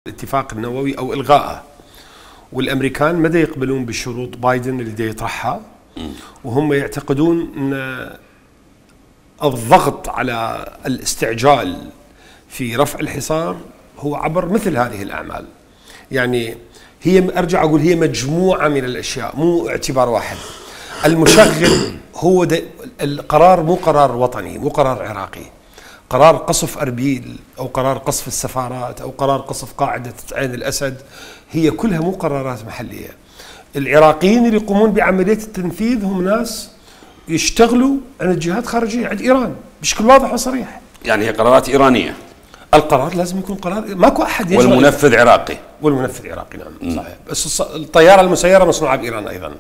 الاتفاق النووي او الغائه، والامريكان ما دا يقبلون بشروط بايدن اللي دا يطرحها، وهم يعتقدون ان الضغط على الاستعجال في رفع الحصار هو عبر مثل هذه الاعمال. يعني هي ارجع اقول هي مجموعه من الاشياء، مو اعتبار واحد. المشغل هو القرار مو قرار وطني، مو قرار عراقي. قرار قصف أربيل أو قرار قصف السفارات أو قرار قصف قاعدة عين الأسد هي كلها مو قرارات محلية. العراقيين اللي يقومون بعملية التنفيذ هم ناس يشتغلوا عند جهات خارجية، عند إيران بشكل واضح وصريح. يعني هي قرارات إيرانية. القرار لازم يكون قرار، ماكو أحد والمنفذ عراقي. والمنفذ عراقي، نعم صحيح. بس الطيارة المسيرة مصنوعة بإيران أيضا.